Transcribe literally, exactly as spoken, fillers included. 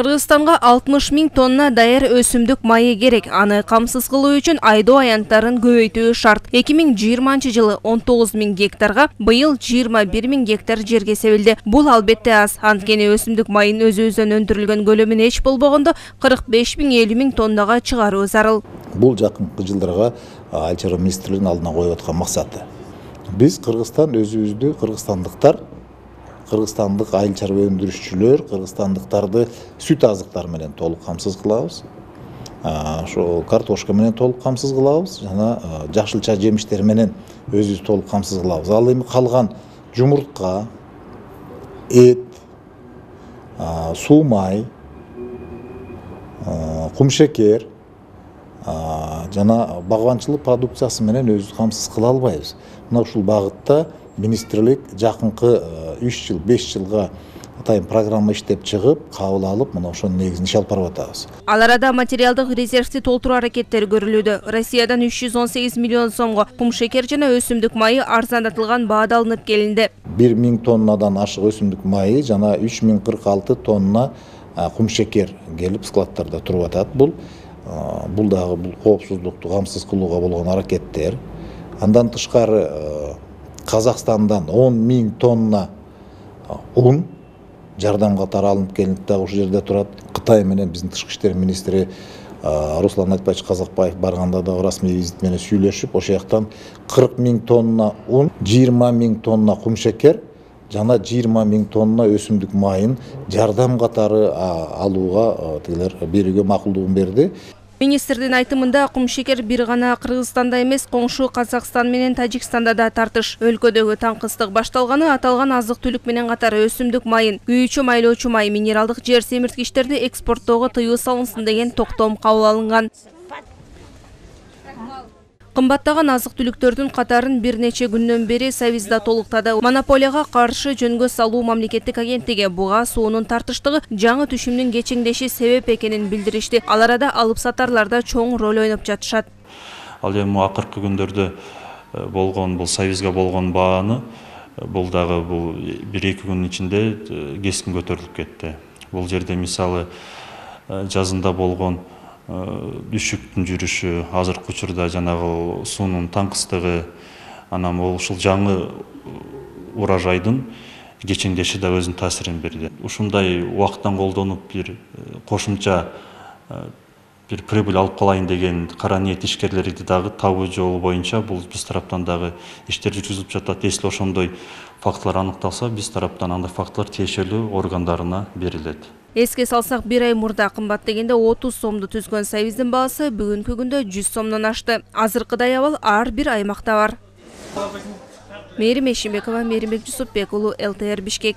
Кыргызстанга алтымыш миң тонна даяр өсүмдүк майы керек. Аны камсыз кылуу үчүн айдоо аянттарын көбөйтүү шарт. эки миң жыйырманчы жылы он тогуз миң гектарга, быйыл жыйырма бир миң гектар жерге себилди. Бул албетте аз. Анткени өсүмдүк майын өзүбүздөн өндүрүлгөн көлөмүн эч болбогондо кырк беш миң элүү миң тоннага чыгаруу зарыл. Бул жакынкы жылдарга Айыл чарба министрлигинин алдына коюп аткан максаты. Биз Кыргызстан өзүбүздү, кыргызстандыктар Кыргызстандык айыл чарба өндүрүшчүлөр Кыргызстандыктарды сүт азыктары менен толук камсыз кылабыз. Ошо картошка менен толук камсыз кылабыз жана жашылча жемиштер менен өзүбүз толук камсыз кылабыз. Ал эми калган жумуртка, эт, суу май, кумшекер жана багбанчылык продукциясы менен өзүбүз камсыз кыла албайбыз. Мына ушул багытта министрлик жакынкы үч жыл, беш жылга атайын программа иштеп чыгып, кабыл алып, мына ошонун негизинде иш алып барып атабыз. Ал арада материалдык резервди толтуруу аракеттери көрүлүүдө. Россиядан үч жүз он сегиз миллион сомго кумшекер жана өсүмдүк майы арзандатылган баада алынып келинди. бир миң тоннадан ашык өсүмдүк майы жана үч миң кырк алты тонна кумшекер келип складтарда туруп атат. Бул бул дагы бул коопсуздукту камсыз кылууга болгон аракеттер. Андан тышкары Казакстандан он миң тонна un жардам катары алынып келинип дагы ушул жерде турат. Кытай менен биздин тышкы иштер министри Руслан Айтбаевич Казакбаев барганда да расмий визит менен сүйлөшүп, ошол жактан кырк миң тонна un, жыйырма миң тонна кумшекер жана жыйырма миң тонна өсүмдүк майын жардам катары алууга тигилер берүүгө макулдугун берди. Министрдин айтымында кумшекер бир гана Кыргызстанда эмес, коңшу Казакстан менен Тажикстанда да тартыш. Өлкөдөгү таңкыстык башталганы аталган азык-түлүк менен катары өсүмдүк майын, күйүүчү майлоочу май, минералдык жер семирткичтерди экспорттоого тыюу салынсын деген токтом кабыл алынган. Кымбаттаган азык-түлүктөрдүн катарын бир нече күндөн бери Совизда толуктады. Монополияга каршы жөнгө салуу мамлекеттик агенттиги буга суунун тартыштыгы жаңы түшүмдүн кечеңдеши себеп экенин билдиришти. Ал арада алып сатарлар да чоң роль ойноп жатышат. Ал эми акыркы күндөрдө болгон бул Совизга болгон бааны бул дагы бул бир эки күнүн ичинде кескин көтөрүлүп кетти. Бул жерде мисалы жазында болгон düşүктүн жүрүшү, азыркы учурда жанагы суунун таңкыстыгы, анан ушул жаңы урожайдын кечеңдеши да өзүнүн таасирин берди. Ушундай убакыттан колдонуп бир кошумча бир прибыль алып калайын деген кара ниет ишкерлерди дагы табуу жолу боюнча бул биз тараптан дагы иштер жүргүзүлүп жатат. Если ошондой фактылар аныкталса, биз тараптан андай фактылар тиешелүү органдарына берилет. Эске салсак, бир ай мурда кымбат дегенде отуз сомду түзгөн Совиздин баасы бүгүнкү күндө жүз сомдон ашты. Азыркыдай абал ар бир аймакта бар. Мээрим Эшимбекова, Мээримбек Жусупбек уулу, эл тэ эр Бишкек.